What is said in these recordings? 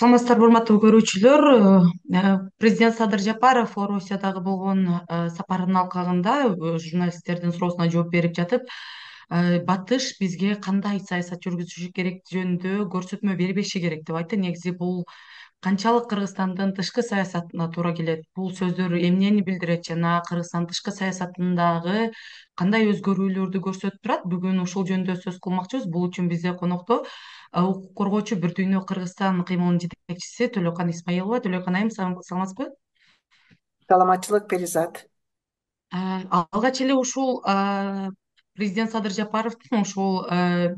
Саламатсыздарбы, урматтуу көрүүчүлөр. Президент Садыр Жапаров Орусиядагы болгон сапарынын алкагында журналисттердин суроосуна жооп берип жатып, батыш бизге кандай саясат жүргүзүшү керек жөнүндө көрсөтмө бербеши керек деп айтты. Негизи бул канчалык Кыргызстандын тышкы саясатына туура келет? Бул сөздөр эмнени билдирет жана Кыргызстандын тышкы саясатындагы кандай өзгөрүүлөрдү көрсөтүп турат? Бүгүн ушул жөнүндө сөз кылмакчыбыз. Бул үчүн бизде конокто укук коргоочу Бир Дүйнө Кыргызстан кыймылынын жетекчиси Төлөкан Исмаилова. Төлөкан айым, саламатсызбы? Саламатчылык Перизат. Алгач эле ушул президент Садыр Жапаровдун ушул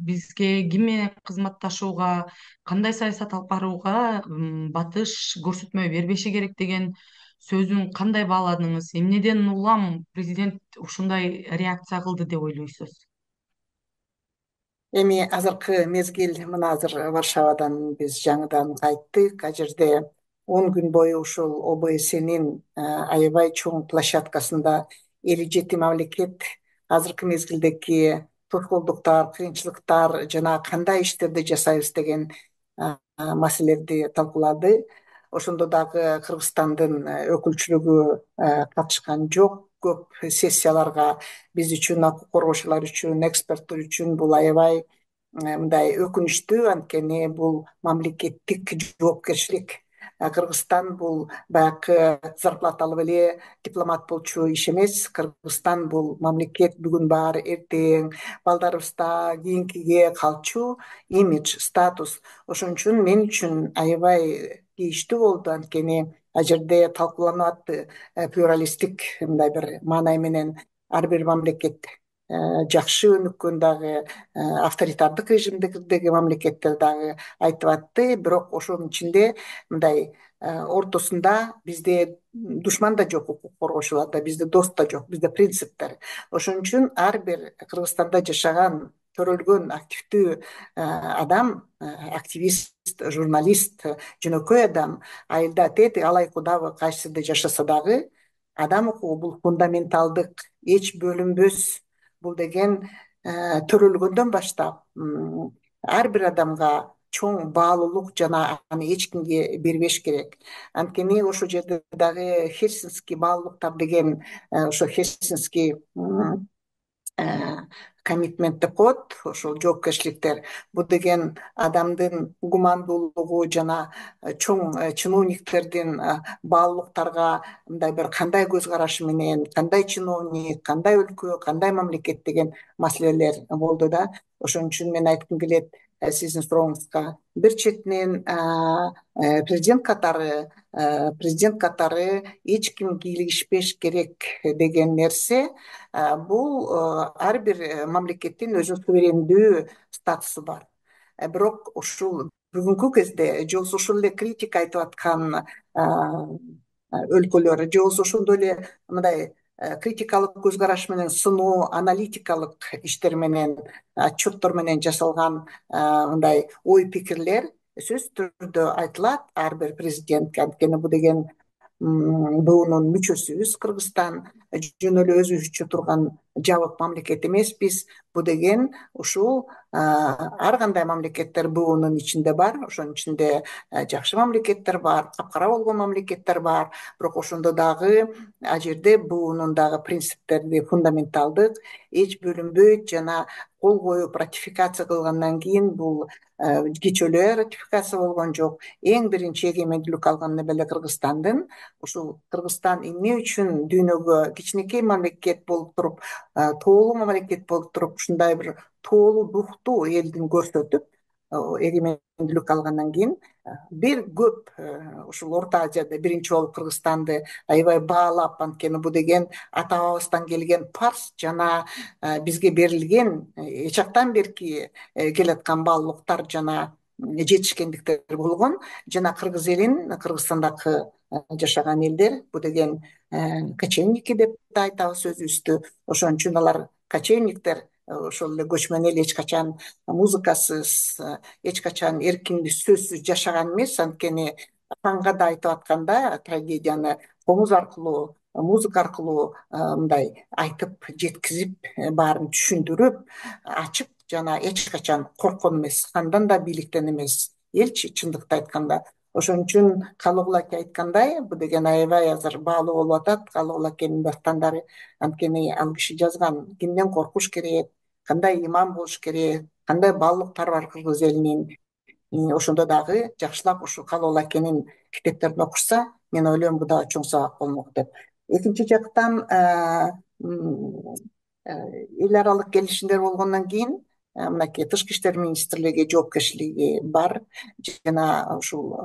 бизге ким менен кызматташууга, кандай саясат алып барууга батыш көрсөтмө бербеши керек деген сөзүн кандай бааладыңыз? Эмнеден улам президент ушундай реакция кылды деп ойлойсуз? Эми азыркы мезгил мына азыр Варшавадан биз жаңыдан кайттык. Ал жерде 10 күн бою ушул ОБСЕнин аябай чоң площадкасында 57 мамлекет азыркы мезгилдеги тосголдуктар, кыйынчылыктар жана кандай иштерди жасайбыз деген маселелерди талкуулады. Ошондо дагы Кыргызстандын өкүлчүлүгү катышкан жок. Көп сессияларга биз үчүн, укук коргоочулар үчүн, эксперттер үчүн бул аябай мындай өкүнүчтүү, анткени бул мамлекеттик жоопкерчилик. Кыргызстан бул баягы зарплаталуу эле дипломат болчу иш эмес. Кыргызстан бул мамлекет бүгүн бар, эртең балдарыбызда кийинкиге калчу имидж, статус. Ошон үчүн мен үчүн аябай тийиштүү болду, анткени ал жерде талкууланып атты плюралисттик мындай бир маанай менен ар бир мамлекет жакшы өнүккөн дагы авторитардык режимдеги мамлекеттер дагы айтып атты. Бирок ошонун ичинде мындай ортосунда бизде душман да жок, укук коргоочуларда бизде дос да жок, бизде принциптер. Ошон үчүн ар бир Кыргызстанда жашаган төрөлгөн активдүү адам, активист, журналист, жөнөкөй адам, айылда тети алай кудабы кайсы жерде жашаса дагы адам укугу бул фундаменталдык, эч бөлүнбөс. Бул деген төрөлгөндөн баштап ар бир адамга чоң баалуулук жана аны эч кимге бербеш керек. Анткени ошол жерде дагы Хельсинский баалуулуктар деген ошо Хельсинский коммитмент деп коет, ошол жоопкерчиликтер. Бул деген адамдын гумандуулугу жана чоң чиновниктердин баалуулуктарга мындай бир кандай көз карашы менен, кандай чиновник, кандай өлкө, кандай мамлекет деген маселелер болду да. Ошон үчүн мен айткым келет сиздин сурооңузга. Бир четинен президент катары эч ким кийлигишпеш керек деген нерсе, бул ар бир мамлекеттин өзүнүн суверендүү статусу бар. Бирок ушул бүгүнкү кезде же болбосо ушул эле критика айтып аткан өлкөлөр, же болбосо ошондой эле мындай критикалык көз караш менен сыноо, аналитикалык иштер менен, отчеттор менен жасалган мындай ой пикирлер сөзсүз түрдө айтылат ар бир президентке. Анткени бул деген буунун мүчөсүбүз. Кыргызстан жөн эле өзүбүзчө турган жабык мамлекет эмеспиз. Бул деген ушул ар кандай мамлекеттер буунун ичинде бар. Ошонун ичинде жакшы мамлекеттер бар, капкара болгон мамлекеттер бар. Бирок ошондо дагы ал жерде буунун дагы принциптерди, фундаменталдык, эч бөлүнбөйт жана кол коюп ратификация кылгандан кийин бул кичөөлө ратификация болгон жок. Эң биринчи эгемендүүлүк алган эле Кыргызстандын. Ушул Кыргызстан эмне үчүн дүйнөгө кичинекей мамлекет болуп туруп, тоолуу мамлекет болуп туруп, ушундай бир тоолуу духтуу элдин көрсөтүп, эгемендүүлүк алгандан кийин бир көп ушул Орто Азияда биринчи болуп Кыргызстанды аябай баалап, анткени бул деген ата бабабыздан келген парс жана бизге берилген эч жактан берки келаткан баалуулуктар жана жетишкендиктер болгон. Жана кыргыз элин, Кыргызстандагы жашаган элдер бул деген кочевники деп да айтабыз өзүбүздү. Ошон үчүн алар кочевниктер ошол эле көчмөн эл эч качан музыкасыз, эч качан эркиндүү сөзсүз жашаган эмес. Анткени фанга да айтып атканда трагедияны комуз аркылуу, музыка аркылуу мындай айтып жеткизип, баарын түшүндүрүп, ачып жана эч качан корккон эмес. Хандан да бийликтен эмес. Элчи чындыкты айтканда. Ошон үчүн Калыгул аке айткандай, бул деген аябай азыр баалуу болуп атат. Калыгул акенин дастандары, анткени ал киши жазган кимден коркуш керек, кандай иман болуш керек, кандай баалуулуктар бар кыргыз элинин. Ошондо дагы жакшылап ушул Калыгул акенин китептерин окушса, мен ойлойм бул дагы чоң сабак болмок деп. Экинчи жактан эл аралык келишимдер болгондон кийин мынакей тышкы иштер министрлиги жоопкерчилиги бар жана ушул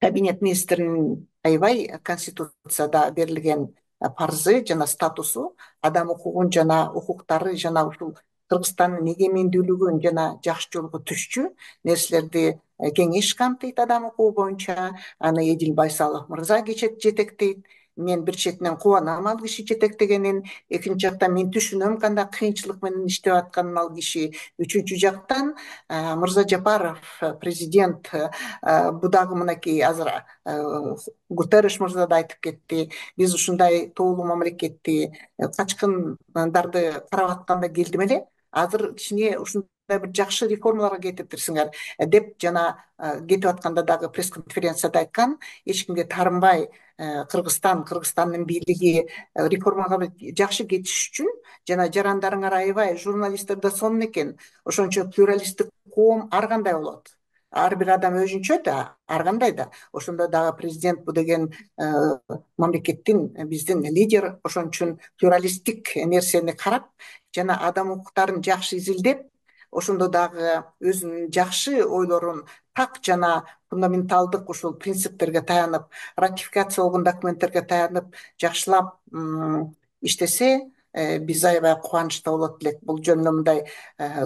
кабинет министринин аябай конституцияда берилген парзы жана статусу, адам укугун жана укуктары жана ушул Кыргызстандын эгемендүүлүгүн жана жакшы жолго түшчү нерселерди кеңеш камтыйт адам укугу боюнча. Аны Эдил Байсалов мырза жетектейт. Мен бир четинен кубанам ал киши жетектегенин, экинчи жактан мен түшүнөм кандай кыйынчылык менен иштеп атканын ал киши. Үчүнчү жактан Мырза Жапаров президент, бул дагы мынакей азыр Гутерриш мырза да айтып кетти, биз ушундай тоолуу мамлекетти, качкындарды карап атканда келдим эле, азыр кичине ушундай бир жакшы реформаларга кетиптирсиңер деп жана кетип атканда дагы пресс конференцияда айткан. Эч кимге таарынбай Кыргызстандын бийлиги реформага жакшы кетиш үчүн жана жарандарыңар аябай журналисттер да сонун экен. Ошон үчүн плюралисттик коом ар кандай болот, ар бир адам өзүнчө да, ар кандай да. Ошондо дагы президент бул деген мамлекеттин, биздин лидер. Ошон үчүн плюралисттик нерсени карап жана адам укуктарын жакшы изилдеп, ошондо дагы өзүнүн жакшы ойлорун так жана фундаменталдык ушул принциптерге таянып, ратификация болгон документтерге таянып жакшылап иштесе, биз аябай кубанычта болот элек. Бул жөнүндө мындай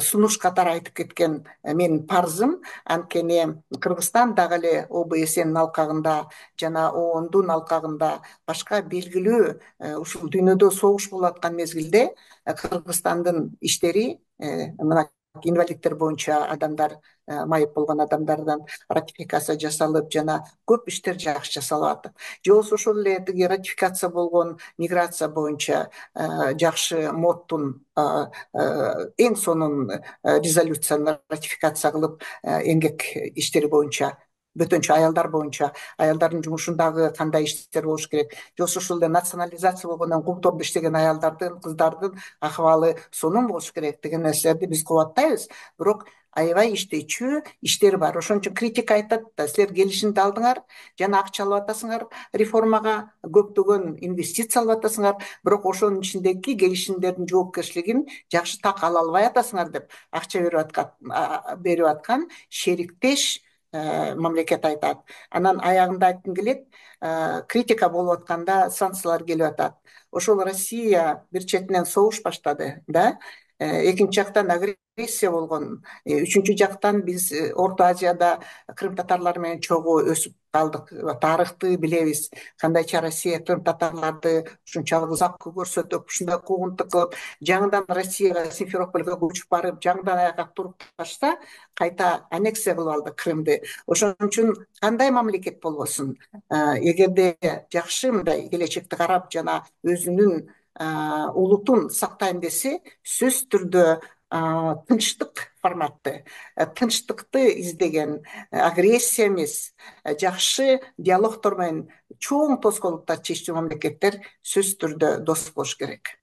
сунуш катары айтып кеткен менин парзым. Анткени Кыргызстан дагы эле ОБСНин алкагында жана ООНдун алкагында башка белгилүү ушул дүйнөдө согуш болуп аткан мезгилде Кыргызстандын иштери мына инвалидтер боюнча адамдар, майып болгон адамдардан ратификация жасалып жана көп иштер жакшы жасалып атат. Же болбосо ошол эле тиги ратификация болгон миграция боюнча жакшы модтун эң сонун резолюцияны ратификация кылып, эмгек иштери боюнча, бөтөнчө аялдар боюнча аялдардын жумушундагы кандай иштер болуш керек, же болбосо ушул эле национализация болгондон контордо иштеген аялдардын, кыздардын акыбалы сонун болуш керек деген нерселерди биз кубаттайбыз. Бирок аябай иштечү иштер бар. Ошон үчүн критика айтат да, силер келишимди алдыңар жана акча алып атасыңар, реформага көптөгөн инвестиция алып атасыңар, бирок ошонун ичиндеги келишимдердин жоопкерчилигин жакшы так ала албай атасыңар деп акча берип аткан шериктеш мамлекет айтат. Анан аягында айткым келет, критика болуп атканда санкциялар келип атат. Ошол Россия бир четинен согуш баштады да, экинчи жактан агрессия болгон, үчүнчү жактан биз Орто Азияда крым татарлары менен чогуу өсүп калдык. Тарыхты билебиз, кандайча Россия крым татарларды ушунчалык узак көрсөтүп, ушундай куугунтук кылып, жаңыдан Россияга, Симферопольго көчүп барып, жаңыдан аяка туруп таштаса, кайта аннексия кылып алды Крымды. Ошон үчүн кандай мамлекет болбосун, эгерде жакшы мындай келечекти карап жана өзүнүн улутун сактайм десе, сөзсүз түрдө тынчтык форматты, тынчтыкты издеген, агрессия эмес, жакшы диалогтор менен чоң тоскоолдуктарды чечүү мамлекеттер сөзсүз түрдө дос болуш керек.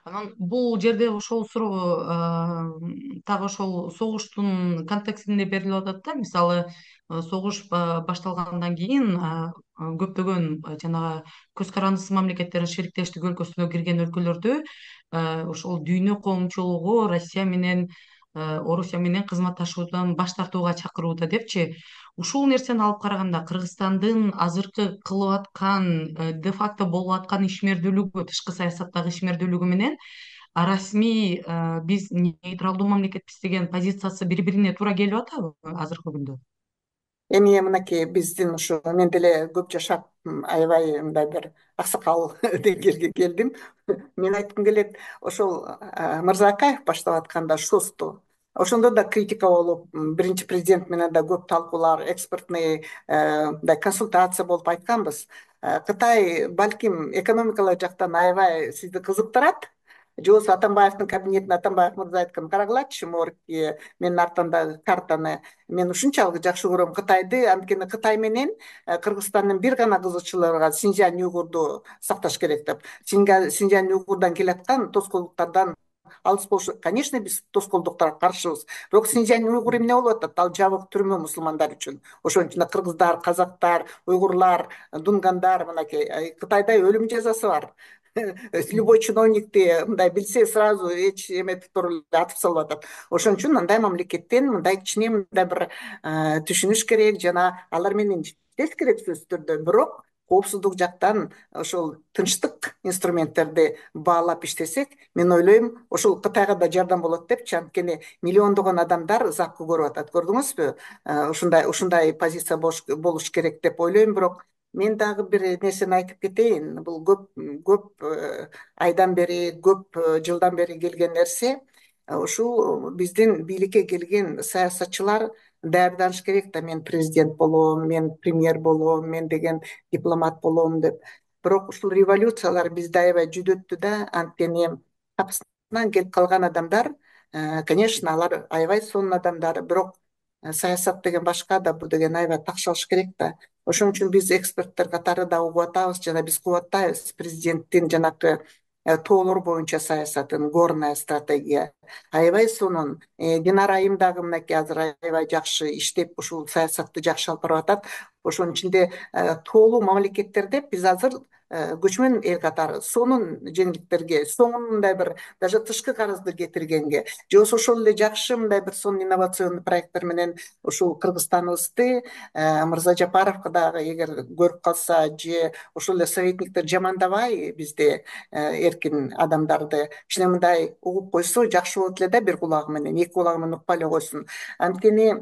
Анан бул жерде ошол суроо так ошол согуштун контекстинде берилип атат да. Мисалы, согуш башталгандан кийин көптөгөн жанагы көз карандысыз мамлекеттердин шериктештик өлкөсүнө кирген өлкөлөрдө ошол дүйнө коомчулугу Россия менен Орусия менен кызматташуудан баш тартууга чакырууда депчи. Ушул нерсени алып караганда Кыргызстандын азыркы кылып аткан де факто болуп аткан ишмердүүлүгү, тышкы саясаттагы ишмердүүлүгү менен расмий биз нейтралдуу мамлекетпиз деген позициясы бири бирине туура келип атабы азыркы күндө? Эми мынакей биздин ушу мен деле көп жашап аябай мындай бир аксакал деңгээлге келдим. Мен айткым келет, ошол Мырзакаев баштап атканда ШОСту, ошондо да критика болуп, биринчи президент менен да көп талкуулар, экспертный мындай консультация болуп айтканбыз. Кытай балким экономикалык жактан аябай сизди кызыктырат, же болбосо Атамбаевдин кабинетине Атамбаев мырза айткан, карагылачы моргки менин артымдагы картаны, мен ушунчалык жакшы көрөм Кытайды, анткени Кытай менен Кыргызстандын бир гана кызыкчылыгы бар, Синьцзянь уйгурду сакташ керек деп. Синьцзянь уйгурдан келаткан тоскоолдуктардан алыс болуш, конечно, биз тоскоолдуктарга каршыбыз, бирок Синьцзянь уйгур эмне болуп атат? Ал жабык түрмө мусулмандар үчүн. Ошон үчүн кыргыздар, казактар, уйгурлар, дунгандар, мынакей Кытайда өлүм жазасы бар. Любой чиновникти мындай билсе, сразу эч эметип туруп эле атып салып атат. Ошон үчүн мындай мамлекеттен мындай кичине мындай бир түшүнүш керек жана алар менен иштеш керек сөзсүз түрдө. Бирок коопсуздук жактан ошол тынчтык инструменттерди баалап иштесек, мен ойлойм, ошол Кытайга да жардам болот депчи, анткени миллиондогон адамдар запкы көрүп атат. Көрдүңүзбү? Ушундай позиция болуш керек деп ойлойм. Бирок мен дагы бир нерсени айтып кетейин. Бул көп айдан бери, көп жылдан бери келген нерсе. Ушул биздин бийликке келген саясатчылар даярданыш керек да, мен президент болом, мен премьер болом, мен деген дипломат болом деп. Бирок ушул революциялар бизди аябай жүдөттү да, анткени капысынан келип калган адамдар, конечно, алар аябай сонун адамдар, бирок саясат деген башка да, бул деген аябай такшалыш керек да. Ошон үчүн биз эксперттер катары да угуп атабыз жана биз кубаттайбыз президенттин жанакы тоолор боюнча саясатын, горная стратегия аябай сонун. Динара айым дагы мынакей азыр аябай жакшы иштеп ушул саясатты жакшы алып барып атат. Ошонун ичинде тоолуу мамлекеттерде биз азыр көчмөн эл катары сонун жеңилдиктерге, сонун мындай бир даже тышкы карызды кетиргенге, же болбосо ошол эле жакшы мындай бир сонун инновационный проекттер менен ушул Кыргызстаныбызды Мырза Жапаровго дагы эгер көрүп калса, же ошол эле советниктер жамандабай бизди, эркин адамдарды кичине мындай угуп койсо жакшы болот эле да, бир кулагы менен, эки кулагы менен укпай эле койсун. Анткени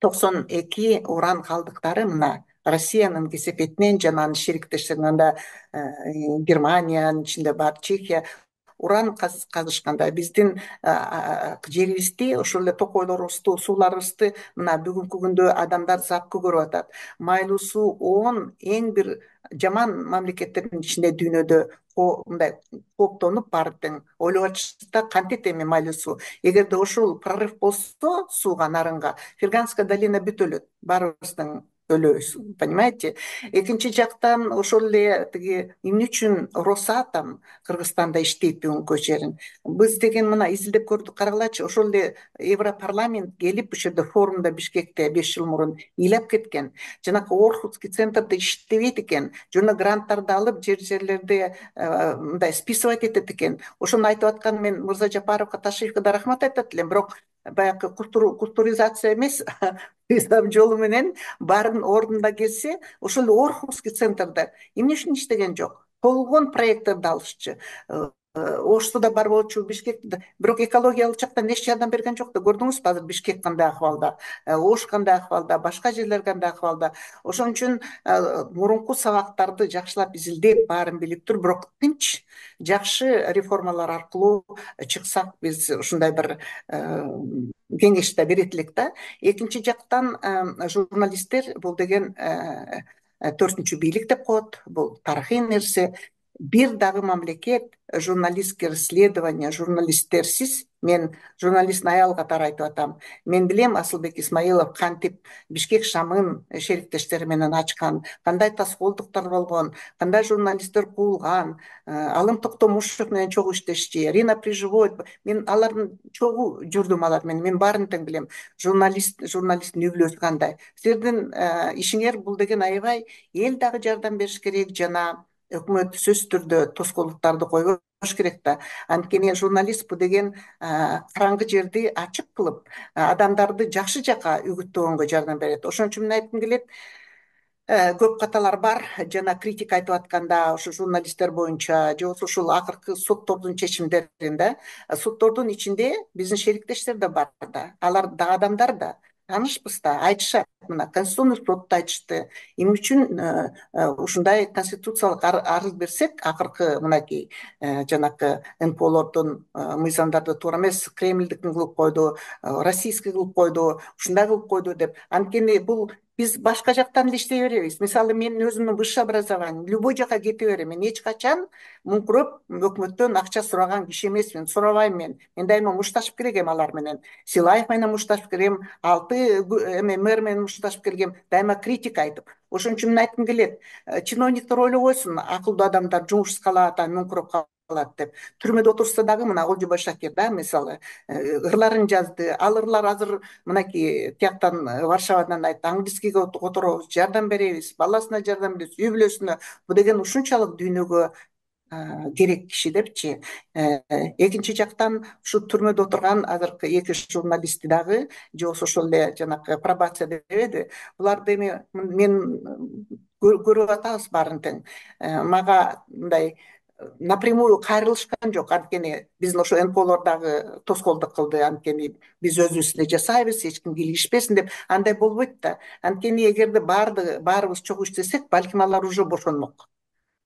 92 уран калдыктары мына Россиянын кесепетинен жана анын шериктештеринен да, Германиянын ичинде бар, Чехия уран казышканда биздин жерибизди, ошол эле токойлорубузду, сууларыбызды мына бүгүнкү күндө адамдар запкы көрүп атат. Майлуу суу 10 эң бир жаман мамлекеттердин ичинде дүйнөдө мындай кооптонуп баары тең ойлоп атышты да, кантет эми майлуу суу. Эгерде ошол прорыв болсо сууга, нарынга, Ферганская долина бүт өлөт, баарыбыздын өлөбүз, понимаете? Экинчи жактан ошол эле тиги эмне үчүн Росатом Кыргызстанда иштейт бүгүнкү жерин? Биз деген мына изилдеп көрдүк, карагылачы, ошол эле Европарламент келип ушул жерде форумда Бишкекте 5 жыл мурун ыйлап кеткен. Жанакы Орхусский центрде иштебейт экен, жана гранттарды алып жерлерди мындай списывать этет экен. Ошону айтып аткан мен Мырза Жапаровго, Ташиевке да рахмат айтат элем, бирок баягы культуризация эмес, ислам жолу менен баарын ордунда келсе, ошол эле Орхусский центрде эмне үчүн иштеген жок? Болгон проекттерди алышчы. Ошто да бар болчу, Бишкекте да. Бирок экологиялык жактан эч жардам берген жок да. Көрдүңүзбү азыр Бишкек кандай акыбалда, Ош кандай акыбалда, башка жерлер кандай акыбалда. Ошон үчүн мурунку сабактарды жакшылап изилдеп, баарын билип туруп, бирок тынч, жакшы реформалар аркылуу чыксак, биз ушундай бир кеңеш да берет элек да. Экинчи жактан журналисттер бул деген төртүнчү бийлик деп коет, бул тарыхый нерсе. Бир дагы мамлекет журналистские расследования, журналисттерсиз, мен журналисттин аял катары айтып атам, мен билем Асылбек Исмаилов кантип Бишкек шамын шериктештери менен ачкан, кандай тоскоолдуктар болгон, кандай журналисттер куулган, Алым Токтомушев менен чогуу иштешти, Рина Приживой, мен алардын чогуу жүрдүм, алар менен, мен баарын тең билем. Журналисттин үй бүлөсү кандай. Силердин ишиңер бул деген аябай, эл дагы жардам бериш керек, жана өкмөт сөзсүз түрдө тоскоолдуктарды койбош керек да. Анткени журналист бул деген караңгы жерди ачык кылып, адамдарды жакшы жака үгүттөгөнгө жардам берет. Ошон үчүн мен айткым келет, көп каталар бар, жана критика айтып атканда ошо журналисттер боюнча, же болбосо ушул акыркы соттордун чечимдеринде, соттордун ичинде биздин шериктештер да бар да, алар да адамдар да, таанышпыз да, айтышат. Мына Конституционный сотто айтышты, эмне үчүн ушундай конституциялык арыз берсек, акыркы мынакей жанакы НПОлордун мыйзамдарды туура эмес, Кремльдикин кылып койду, российский кылып койду, ушундай кылып койду деп. Анткени бул биз башка жактан эле иштей беребиз. Мисалы менин өзүмдүн высшее образованием, любой жака кете берем. Мен эч качан муңкуроп өкмөттөн акча сураган киши эмесмин, сурабайм мен. Мен дайыма мушташып келгем алар менен. Силаев менен мушташып келгем, эме мэр менен мушташып келгем, дайыма критика айтып. Ошон үчүн мен айткым келет, чиновниктер ойлой койсун, акылдуу адамдар жумушсуз калат, муңкуроп калат деп. Түрмөдө отурса дагы мына Олжобой Шакир да, мисалы, ырларын жазды. Ал ырлар азыр мынакей тияктан, Варшавадан айтты, английскийге которобуз, жардам беребиз, баласына жардам беребиз, үй бүлөсүнө. Бул деген ушунчалык дүйнөгө керек киши депчи. Экинчи жактан ушу түрмөдө отурган азыркы эки журналистти дагы, же болбосо ошол эле жанагы пробация дебеди, буларды эми мен көрүп атабыз баарын тең. Мага мындай напрямую кайрылышкан жок, анткени биздин ошо НПОлор дагы тоскоолдук кылды, анткени биз өзүбүз эле жасайбыз, эч ким кийлигишпесин деп. Андай болбойт да. Анткени эгерде баарыбыз чогуу иштесек, балким алар уже бошонмок.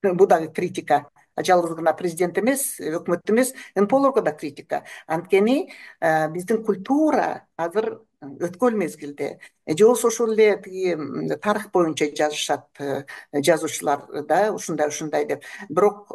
Бул дагы критика. Жалгыз гана президент эмес, өкмөт эмес, НПОлорго да критика. Анткени биздин культура азыр өткөн мезгилде, же болбосо ошол эле тиги тарых боюнча жазышат жазуучулар да, ушундай деп. Бирок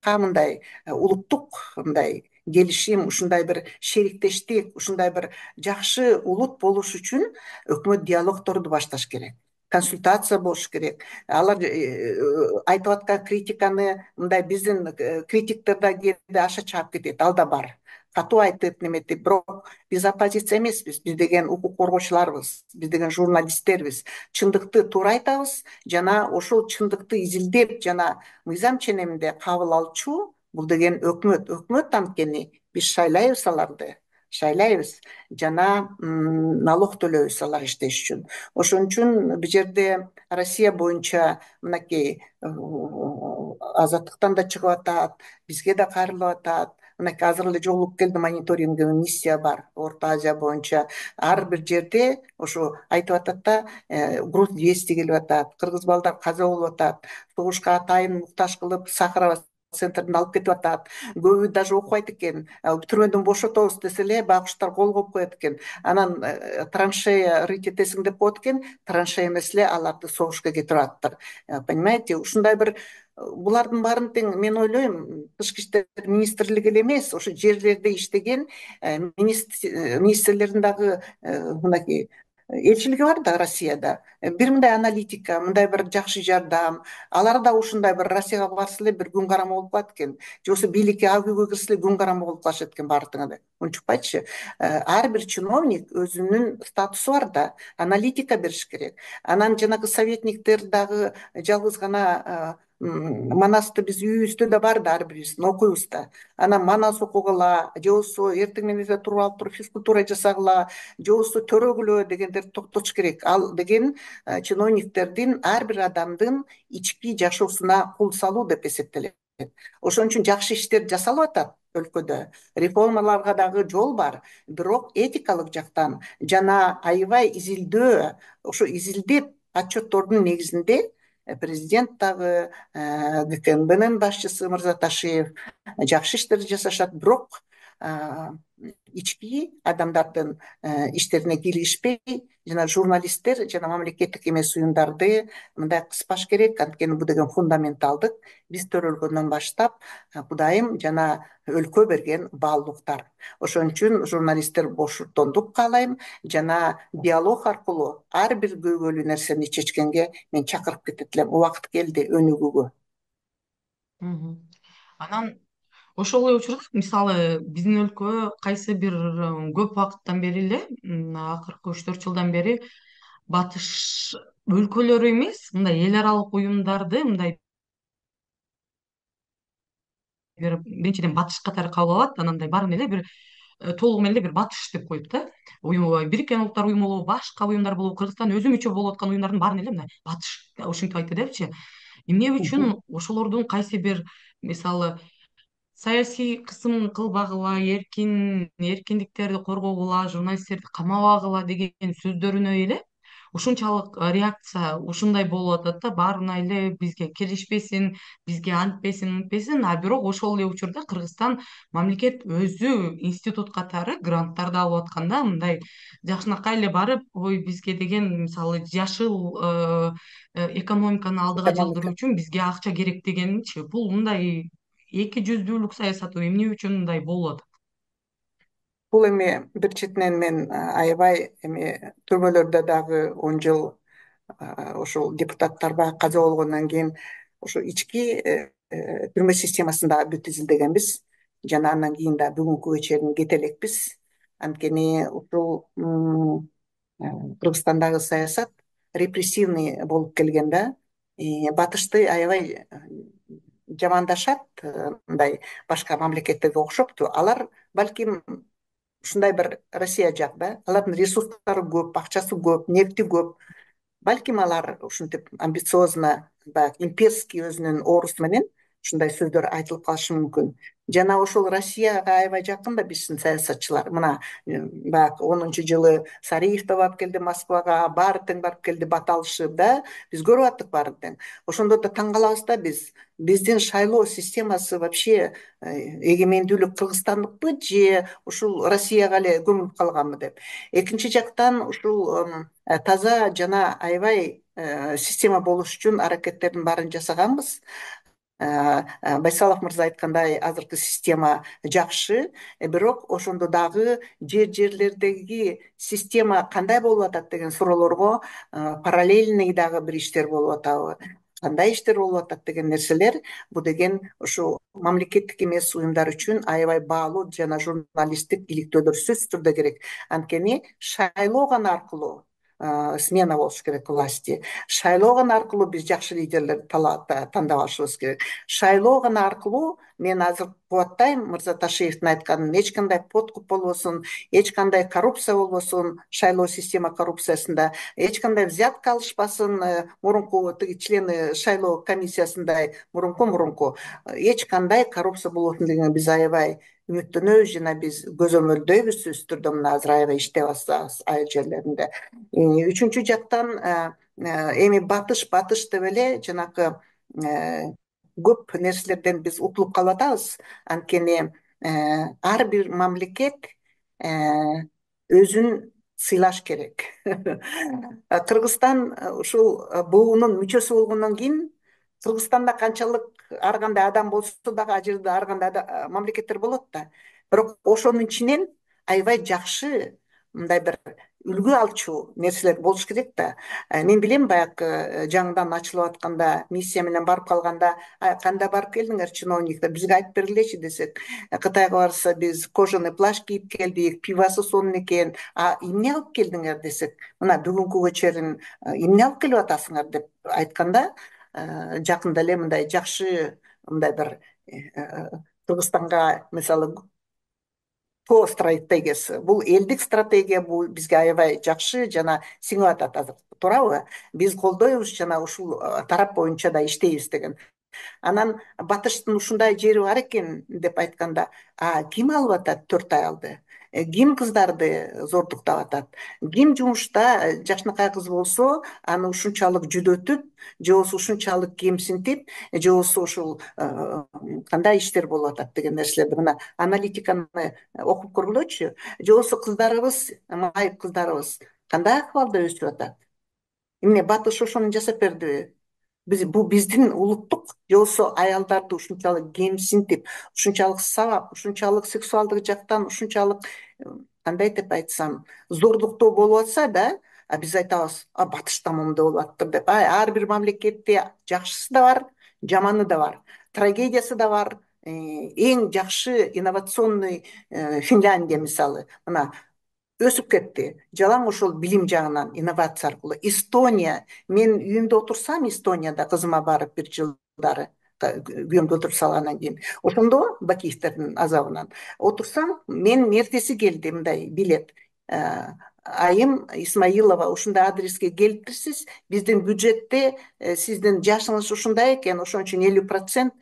мындай улуттук мындай келишим, ушундай бир шериктештик, ушундай бир жакшы улут болуш үчүн өкмөт диалогторду башташ керек, консультация болуш керек. Алар айтып аткан критиканы мындай биздин критиктер да кээде аша чаап кетет, ал да бар. Катуу айтып неметип, бирок биз оппозиция эмеспиз. Биз деген укук коргоочуларбыз, биз деген журналисттербиз. Чындыкты туура айтабыз жана ошол чындыкты изилдеп жана мыйзам ченеминде кабыл алчу бул деген өкмөт. Өкмөт анткени биз шайлайбыз жана налог төлөйбүз алар иштеш үчүн. Ошон үчүн бул жерде Россия боюнча мынакей азаттыктан да чыгып атат, бизге да кайрылып атат. Мынакей азыр эле жолугуп келди, мониторинг миссия бар Орто Азия боюнча. Ар бир жерде ошо айтып атат да, груз 200 келип атат, кыргыз балдар каза болуп атат, согушка атайын муктаж кылып Сахарова центрден алып кетип атат. Көбү даже окубайт экен. Түрмөдөн бошотобуз десе эле байкуштар кол коюп коет экен. Анан траншея рыть этесиң деп коет экен, траншея эмес эле аларды согушка кетирип атыптыр. Понимаете, ушундай бир булардын баарын тең мен ойлойм, тышкы иштер министрлиги эле эмес, ошо жерлерде иштеген министрлердин дагы мынакей элчилиги бар да Россияда. Бир мындай аналитика, мындай бир жакшы жардам, алар да ушундай бир Россияга барса эле бир күн карама болуп калат экен. Же болбосо бийликке ак үйгө кирсе эле күн карама болуп калышат экен баары тең эле. Унчукпайчы. Ар бир чиновник өзүнүн статусу бар да, аналитика бериш керек. Анан жанагы советниктер дагы жалгыз гана Манасты биз үйүбүздө да бар да, ар бирибиздин окуйбуз да. Анан Манас окугула, же болбосо эртең менен эле туруп алып туруп физкультура жасагыла, же болбосо төрөгүлө дегендерди токтотуш керек. Ал деген чиновниктердин, ар бир адамдын ички жашоосуна кул салуу деп эсептелет. Ошон үчүн жакшы иштер жасалып атат өлкөдө. Реформаларга дагы жол бар. Бирок этикалык жактан жана аябай изилдөө, ошо изилдеп отчеттордун негизинде президент дагы, ГКМБнын башчысы Мырзаташиев жакшы иштерди жасашат. Бирок ички адамдардын иштерине кийлигишпей, жана журналисттер жана мамлекеттик эмес уюмдарды мындай кыспаш керек. Анткени бул деген фундаменталдык, биз төрөлгөндөн баштап Кудайым жана өлкө берген баалуулуктар. Ошон үчүн журналисттер бошотондук каалайм жана диалог аркылуу ар бир көйгөйлүү нерсени чечкенге мен чакырып кетет элем. Убакыт келди өнүгүүгө. Анан ошол эле учурда мисалы биздин өлкө кайсы бир көп убакыттан бери эле, акыркы 3-4 жылдан бери батыш өлкөлөрү эмес, мындай эл аралык уюмдарды мындай биринчиден батыш катары кабыл алат, анан мындай баарын эле бир толугу менен эле бир батыш деп коет да. Бириккен Улуттар уюму болобу, башка уюмдар болобу, Кыргызстан өзү мүчө болуп аткан уюмдардын баарын эле мындай батыш ушинтип айтты депчи. Эмне үчүн ошолордун кайсы бир мисалы саясий кысым кылбагыла, эркиндиктерди коргогула, журналисттерди камабагыла деген сөздөрүнө эле ушунчалык реакция ушундай болуп атат да, баарына эле бизге киришпесин, бизге антпесин мынтпесин, а бирок ошол эле учурда Кыргызстан мамлекет өзү институт катары гранттарды алып атканда мындай жакшынакай эле барып, ой бизге деген мисалы жашыл экономиканы алдыга жылдыруу экономика. үчүн бизге акча керек дегенчи, бул мындай эки жүздүүлүк саясаты эмне үчүн мындай болуп атат? Бул эми бир четинен мен аябай эми түрмөлөрдө дагы 10 жыл ошол депутаттар баягы каза болгондон кийин ошо ички түрмө системасын дагы бүт изилдегенбиз жана андан кийин да бүгүнкүгө чейин кете элекпиз. Анткени ушул Кыргызстандагы саясат репрессивный болуп келген да. Батышты аябай жамандашат, мындай башка мамлекеттерге окшопту. Алар балким ушундай бир Россия жак да. Алардын ресурстары көп, акчасы көп, нефти көп. Балким алар ушинтип амбициозно, баягы имперский өзүнүн оорусу менен ушундай сөздөр айтылып калышы мүмкүн. Жана ошол Россияга аябай жакын да биздин саясатчылар. Мына баягы 10-жылы Сариев да барып келди Москвага, баары тең барып келди, бат алышып да. Биз көрүп аттык баарын тең. Ошондо да таң калабыз да биз. Биздин шайлоо системасы вообще эгемендүүлүк Кыргызстандыкпы же ушул Россияга эле көмүлүп калганбы деп. Экинчи жактан ушул таза жана аябай система болуш үчүн аракеттердин баарын жасаганбыз. Байсалов мырза айткандай азыркы система жакшы, бирок ошондо дагы жерлердеги система кандай болуп атат деген суроолорго параллельный дагы бир иштер болуп атабы, кандай иштер болуп атат деген нерселер, бул деген ушу мамлекеттик эмес уюмдар үчүн аябай баалуу жана журналисттик иликтөөлөр сөзсүз түрдө керек. Анткени шайлоо гана аркылуу смена болуш керек власти. Шайлоо гана аркылуу биз жакшы лидерлерди тандап алышыбыз керек. Шайлоо гана аркылуу мен азыр кубаттайм мырза Ташиевдин айтканын, эч кандай подкуп болбосун, эч кандай коррупция болбосун, шайлоо система коррупциясында эч кандай взятка алышпасын, мурунку тиги члены шайлоо комиссиясындай мурунку эч кандай коррупция болбосун дегенге биз аябай үмүттөнөбүз жана биз көзөмөлдөйбүз сөзсүз түрдө, мына азыр аябай иштеп атабыз айыл жерлеринде. Үчүнчү жактан эми батыш деп эле жанакы көп нерселерден биз утулуп калып атабыз. Анткени ар бир мамлекет өзүн сыйлаш керек. Кыргызстан ушул буунун мүчөсү болгондон кийин Кыргызстанда канчалык ар кандай адам болсо дагы ал жерде ар кандай мамлекеттер болот да. Бирок ошонун ичинен аябай жакшы мындай бир үлгү алчу нерселер болуш керек да. Мен билем баягы жаңыдан ачылып атканда миссия менен барып калганда кандай барып келдиңер чиновниктер, бизге айтып бергилечи десек, Кытайга барса биз кожаный плащ кийип келдик, пивасы сонун экен, эмне алып келдиңер десек, мына бүгүнкүгө чейин эмне алып келип атасыңар деп айтканда, жакында эле мындай жакшы мындай бир Кыргызстанга мисалы по стратегиясы, бул элдик стратегия, бул бизге аябай жакшы жана сиңип атат азыр, туурабы? Биз колдойбуз жана ушул тарап боюнча да иштейбиз деген. Анан батыштын ушундай жери бар экен деп айтканда, ким алып атат 4 аялды? Ким кыздарды зордуктап атат? Ким жумушта жакшынакай кыз болсо, аны ушунчалык жүдөтүп, же болбосо ушунчалык кемсинтип, же болбосо ушул кандай иштер болуп атат деген нерселерди мына аналитиканы окуп көргүлөчү. Же болбосо кыздарыбыз, майып кыздарыбыз кандай акыбалда өсүп атат? Эмне батыш ошону жасап бердиби? Бул биздин улуттук, же болбосо аялдарды ушунчалык кемсинтип, ушунчалык сабап, ушунчалык сексуалдык жактан ушунчалык кандай деп айтсам, зордуктоо болуп атса да, биз айтабыз, батышта момундай болуп аттыр деп. Ар бир мамлекетте жакшысы да бар, жаманы да бар, трагедиясы да бар. Эң жакшы инновационный Финляндия мисалы, мына өсүп кетти. Жалаң ошол билим жагынан, инновация аркылуу. Эстония, мен үйүмдө отурсам Эстонияда кызыма барып бир жылдары күйөөмдү өлтүрүп салгандан кийин, ошондо Бакиевдердин азабынан отурсам, мен эртеси келди мындай билет. Айым Исмаилова ушундай адреске келиптирсиз, биздин бюджетте сиздин жашыңыз ушундай экен, ошон үчүн 50%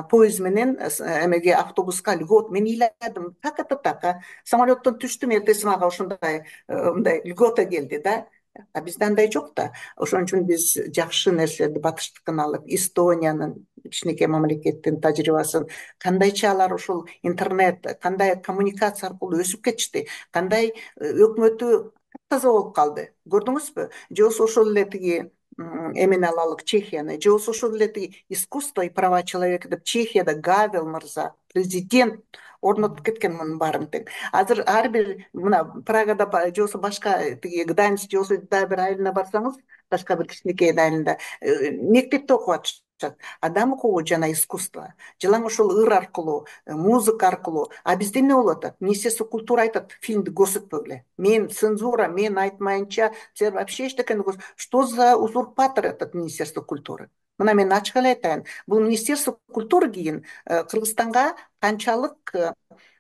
поезд менен эмеге автобуска льгот. Мен ыйладым, так это так, самолеттон түштүм, эртеси мага ушундай мындай льгота келди да. А бизде андай жок да. Ошон үчүн биз жакшы нерселерди батыштыкын алып, Эстониянын кичинекей мамлекеттин тажрыйбасын, кандайча алар ушул интернет, кандай коммуникация аркылуу өсүп кетишти, кандай өкмөтү таза болуп калды. Көрдүңүзбү? Же болбосо ошол эле тиги эмени алалык, Чехияны, же болбосо ошол эле тиги искусство и права человека деп Чехияда Гавел мырза, президент орнотуп кеткен мунун баарын тең. Азыр ар бир мына Прагада же болбосо башка тиги Гданьск же болбосо дагы бир айылына барсаңыз, башка бир кичинекей айылында мектепте окуп атышат. Адам укугу жана искусство. Жылаң ошол ыр аркылуу, музыка аркылуу. А бизде эмне болуп атат? Министерство культуры айтат, фильмди көрсөтпөгүлө. Мен цензура, мен айтмайынча, силер вообще эчтекени Что за узурпатор этот Министерство культуры? Мына мен ачык эле айтайын. Бул Министерство культуры кийин Кыргызстанга канчалык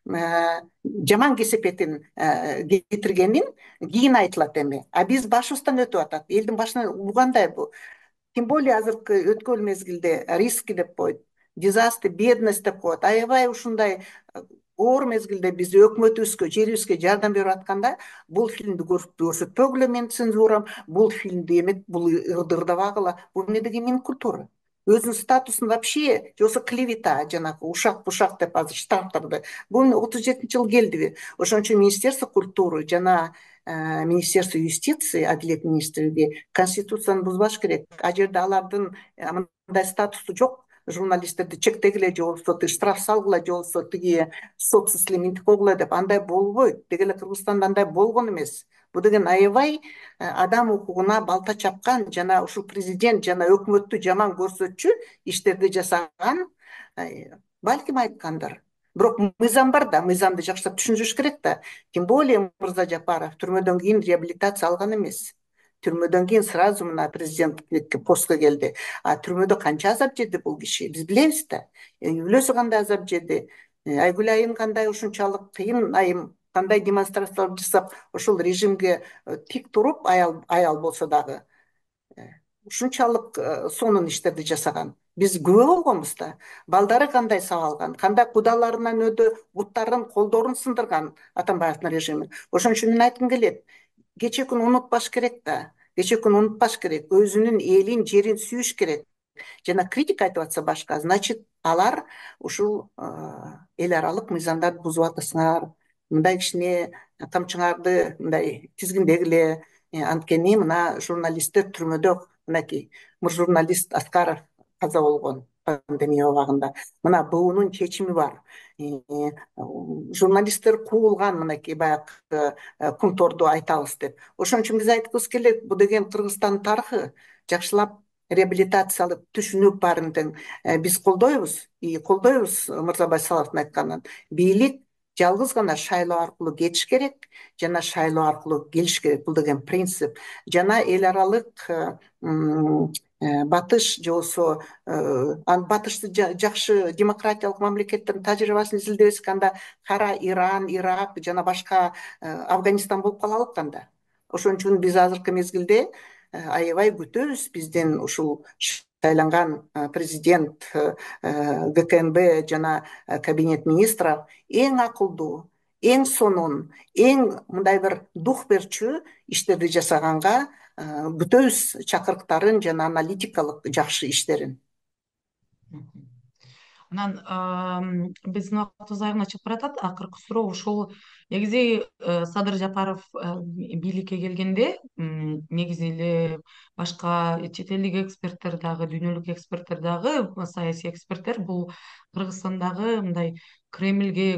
жаман кесепетин кетиргенин кийин айтылат эми. А биз башыбыздан өтүп атат. Элдин башына угандай бул. Тем более азыркы өткөн мезгилде риски деп коет, дизастер, бедность деп коет. Аябай ушундай оор мезгилде биз өкмөтүбүзгө, жерибизге жардам берип атканда бул фильмди көрсөтпөгүлө, менин цензурам, бул фильмди эмет, бул ырды ырдабагыла. Бул эмне деген менин культура? Өзүнүн статусун вообще, же болбосо клевета, жанагы ушак бушак деп азыр штрафтарды. Бул 37-жылы келдиби? Ошон үчүн Министерство культуры жана Министерство юстиции, Адилет министрлиги конституцияны бузбаш керек. А жерде алардын мындай статусу жок. Журналисттерди чектегиле, же болбосо тиги штраф салгыла, же болбосо тиги соцсетьле минтип койгула деп андай болбойт. Деги эле Кыргызстанда андай болгон эмес. Бул деген аябай адам укугуна балта чапкан жана ушул президент жана өкмөттү жаман көрсөтчү иштерди жасаган балким айткандыр. Бирок мыйзам бар да, мыйзамды жакшылап түшүндүрүш керек да. Тем более Мырза Жапаров түрмөдөн кийин реабилитация алган эмес. Түрмөдөн кийин сразу мына президенттикке постко келди. А түрмөдө канча азап жеди бул киши, биз билебиз да. Үй бүлөсү кандай азап жеди, Айгүл айым кандай ушунчалык кыйын айым, кандай демонстрациялар жасап, ошол режимге тик туруп, аял болсо дагы ушунчалык сонун иштерди жасаган. Биз күбө болгонбуз да. Балдары кандай сабалган, кандай кудаларынан өдө буттарын, колдорун сындырган Атамбаевдин режими. Ошон үчүн мен айткым келет, кечээ күнү унутпаш керек да. Кечээ күнү унутпаш керек. Өзүнүн элин, жерин сүйүш керек. Жана критика айтып атса башка, значит, алар ушул эл аралык мыйзамдарды бузуп атасыңар. Мындай кичине камчыңарды мындай тизгиндегиле. Анткени мына журналисттер түрмөдө, мынакей журналист Аскаров каза болгон пандемия убагында. Мына буунун чечими бар. Журналисттер куулган, мынакей баягы кунторду айтабыз деп. Ошон үчүн биз айткыбыз келет, бул деген Кыргызстандын тарыхы. Жакшылап реабилитациялап түшүнүп баарын тең биз колдойбуз Мырза Байсаловдун айтканын. Бийлик жалгыз гана шайлоо аркылуу кетиш керек жана шайлоо аркылуу келиш керек. Бул деген принцип. Жана эл аралык батыш же болбосо батышты жакшы демократиялык мамлекеттердин тажрыйбасын изилдебесек, анда кара Иран, Ирак жана башка Афганистан болуп калалык анда. Ошон үчүн биз азыркы мезгилде аябай күтөбүз биздин ушул шайланган президент, ГКНБ жана кабинет министров эң акылдуу, эң сонун, эң мындай бир дух берчү иштерди жасаганга күтөбүз чакырыктарын жана аналитикалык жакшы иштерин. Анан биздин убактыбыз аягына чыгып баратат. Акыркы суроо ушул. Негизи Садыр Жапаров бийликке келгенде негизи эле башка чет элдик эксперттер дагы, дүйнөлүк эксперттер дагы, саясий эксперттер бул Кыргызстандагы мындай Кремльге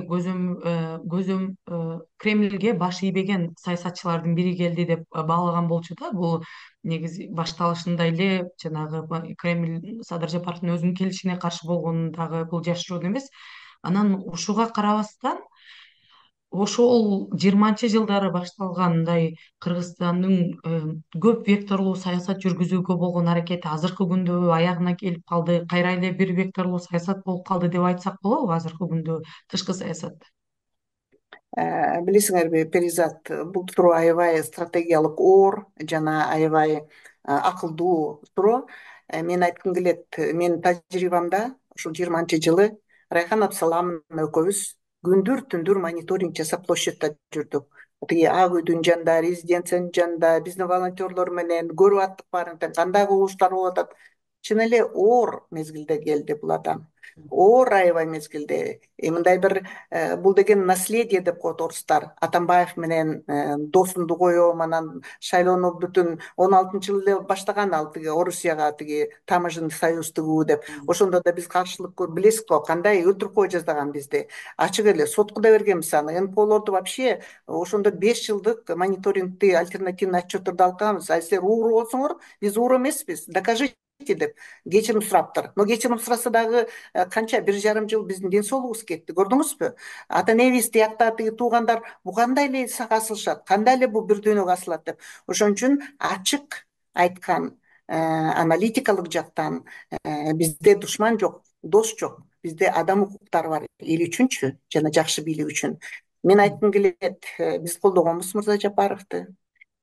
баш ийбеген саясатчылардын бири келди деп баалаган болчу да. Бул негизи башталышында эле жанагы Кремль Садыр Жапаровдун өзүнүн келишине каршы болгону дагы бул жашыруун эмес. Анан ушуга карабастан ошол 20-жылдары башталган мындай Кыргызстандын көп векторлуу саясат жүргүзүүгө болгон аракети азыркы күндө аягына келип калды. Кайра эле бир векторлуу саясат болуп калды деп айтсак болобу азыркы күндө тышкы саясатта? Билесиңерби, Перизат, бул суроо аябай стратегиялык оор жана аябай акылдуу суроо. Мен айткым келет, менин тажрыйбамда ушул 20-жылы Райхан Абсаламовна экөөбүз күндүр түндүр мониторинг жасап площадьта жүрдүк. тиги Ак үйдүн жанында, резиденциянын жанында биздин волонтерлор менен көрүп аттык баарын тең кандай кубулуштар болуп атат. Чын эле оор мезгилде келди бул адам. Оор аябай мезгилде. Мындай бир бул деген наследие деп коет орустар. Атамбаев менен досунду коем, анан шайлоону бүтүн 16-жылы эле баштаган ал тиги Орусияга тиги таможенный союз тыгуу деп. Ошондо да биз каршылык билесиз го, кандай өлтүрүп кое жаздаган бизди. Ачык эле сотко да бергенбиз аны. НПОлорду вообще ошондо 5 жылдык мониторингти альтернативный отчетторду алганбыз. А силер ууру болсоңор, биз ууру эмеспиз, докажите деп кечирим сураптыр. Но кечирим сураса дагы канча 1,5 жыл биздин ден соолугубуз кетти, көрдүңүзбү? Ата энебиз тиякта тиги туугандар бу кандай эле сага асылышат, кандай эле бу бир дүйнөгө асылат деп. Ошон үчүн ачык айткан аналитикалык жактан бизде душман жок, дос жок. Бизде адам укуктары бар эл үчүнчү жана жакшы бийлик үчүн. Мен айткым келет, биз колдогонбуз Мырза Жапаровду.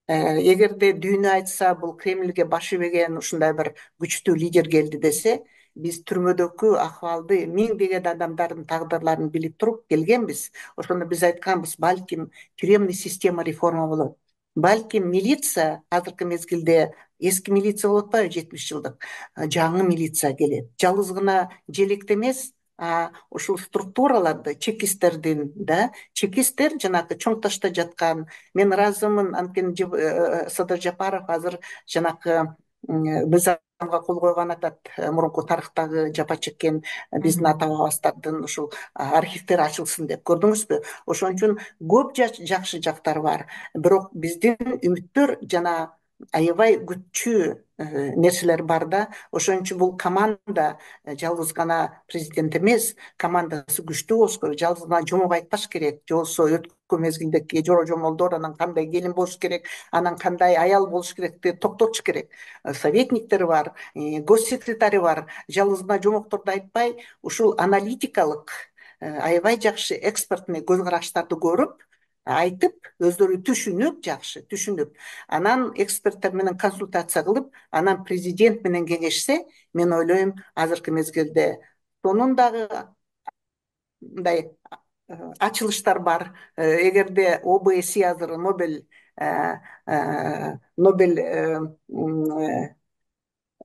Эгерде дүйнө айтса бул Кремльге баш ийбеген ушундай бир күчтүү лидер келди десе, биз түрмөдөгү акыбалды миңдеген адамдардын тагдырларын билип туруп келгенбиз. Ошондо биз айтканбыз, балким тюремный система реформа болот. Балким милиция азыркы мезгилде эски милиция болуп атпайбы 70 жылдык, жаңы милиция келет. Жалгыз гана желекте эмес, ушул структураларды чекисттердин чекисттер жанагы чоң ташта жаткан. Мен ыраазымын, анткени Садыр Жапаров азыр жанакы мыйзамга кол койгон атат, мурунку тарыхтагы жапа чеккен биздин ата бабабыздардын ушул архивдери ачылсын деп, көрдүңүзбү? Ошон үчүн көп жакшы жактары бар, бирок биздин үмүттөр жана аябай күчтүү нерселер бар да. Ошон үчүн бул команда жалгыз гана президент эмес, командасы күчтүү болуш керек. Жалгыз гана жомок айтпаш керек, же болбосо өткөн мезгилдеги жора жомолдор анан кандай келин болуш керек, анан кандай аял болуш керекти токтотуш керек. Советниктери бар, госсекретари бар. Жалгыз гана жомокторду айтпай, ушул аналитикалык аябай жакшы экспертный көз караштарды көрүп, айтып, өздөрү түшүнүп, жакшы түшүнүп, анан эксперттер менен консультация кылып, анан президент менен кеңешсе, мен ойлойм, азыркы мезгилде сонун дагы мындай ачылыштар бар. Эгерде ОБСЕ азыр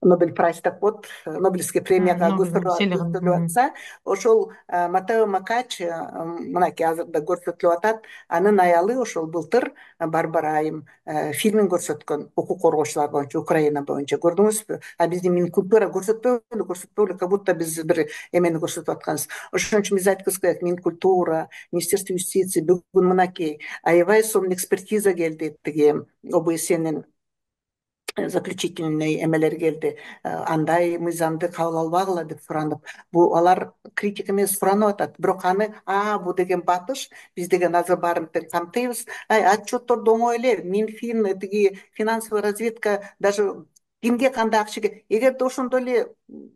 Нобель прайз деп коет, Нобелевский премияга көрсөтүлүп атса, ошол Матео Макач мынакей азырда көрсөтүлүп атат. Анын аялы ошол былтыр Барбара Айым фильмин көрсөткөн, укук коргоочулар боюнча, Украина боюнча, көрдүңүзбү? А биздин Минкультура көрсөтпөбү, как будто биз бир эмени көрсөтүп атканбыз. Ошон үчүн биз айткыбыз келет, Минкультура, Министерство юстиции бүгүн мынакей аябай сонун экспертиза келди, тиги ОБСЕнин заключительный эмелер келди. Андай мыйзамды кабыл албагыла деп суранып. Бул алар критика эмес, суранып атат. Бирок аны бу деген батыш, биз деген азыр баарын тең камтыйбыз. Отчетторду оңой эле, Минфин, тиги финансовый разведка, даже кимге кандай акча, эгерде ошондой эле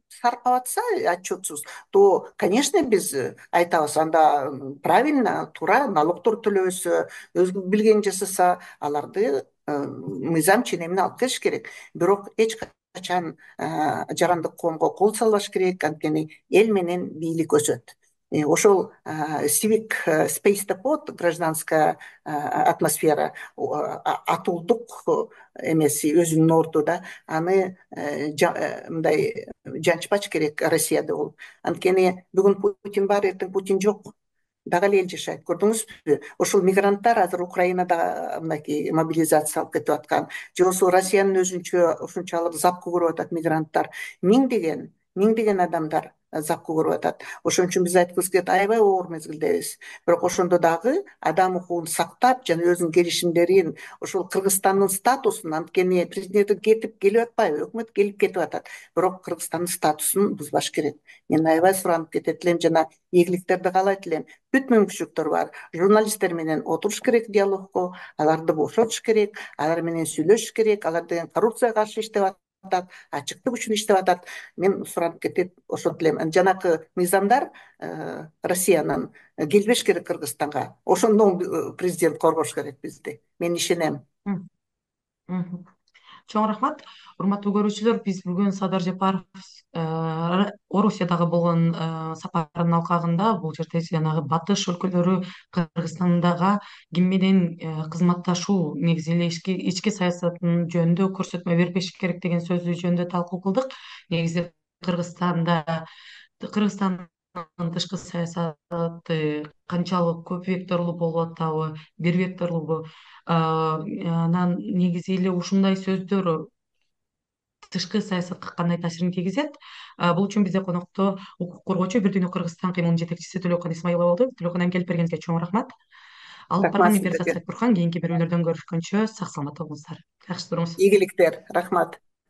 саркап атса отчетсуз, то, конечно, биз айтабыз, анда правильно, туура налогдор төлөбөсө, өзү билгенин жасаса, аларды мыйзам ченемине алып келиш керек. Бирок эч качан жарандык коомго кол салбаш керек, анткени эл менен бийлик өсөт. Ошол civic space деп коет, гражданская атмосфера, атуулдук эмеси өзүнүн орду да, аны мындай жанчпач керек Россияда болуп. Анткени бүгүн Путин бар, эртең Путин жок. Дагы эле эл жашайт, көрдүңүзбү? Ошол мигранттар азыр Украинада мынакей мобилизациялык кетип аткан, же болбосо Россиянын өзүнчө ушунчалык запкы көрүп атат мигранттар. Миңдеген адамдар запкы көрүп атат. Ошон үчүн биз айткыбыз келет, аябай оор мезгилдебиз. Бирок ошондо дагы адам укугун сактап, жана өзүнүн келишимдерин, ошол Кыргызстандын статусун, анткени президент келип атпайбы, өкмөт келип кетип атат. Бирок Кыргызстандын статусун бузбаш керек. Мен аябай суранып кетет элем, жана ийгиликтерди каалайт элем. Бүт мүмкүнчүлүктөр бар. Журналисттер менен отуруш керек диалогко, аларды бошотуш керек, алар менен сүйлөшүш керек. Алар деген коррупцияга каршы иштеп атат, ачыктык үчүн иштеп атат. Мен суранып кетет, ошентип элем. Жанакы мыйзамдар Россиянын келбеш керек Кыргызстанга. Ошондон президент коргош керек бизди. Мен ишенем. Чоң рахмат. Урматтуу көрүүчүлөр, биз бүгүн Садыр Жапаров Орусиядагы болгон сапарынын алкагында бул жерде жанагы батыш өлкөлөрү, Кыргызстандага ким менен кызматташуу, негизи эле ички саясаттын жөнүндө көрсөтмө бербеш керек деген сөзү жөнүндө талкуу кылдык. Негизи Кыргызстандын тышкы саясаты канчалык көп векторлуу болуп атабы, бир векторлубу? Анан негизи эле ушундай сөздөр тышкы саясатка кандай таасирин тийгизет? Бул үчүн бизде конокто укук коргоочу Бир Дүйнө Кыргызстан кыймылынын жетекчиси Төлөкөн Исмаилова болду. Төлөкөн айым, келип бергениңизге чоң рахмат. Алып Рахмат барган Миграция сиздерге. Сайтбурхан. Кийинки берүүлөрдөн көрүшкөнчө сак саламатта болуңуздар. Жакшы туруңуз. Ийгиликтер. Рахмат.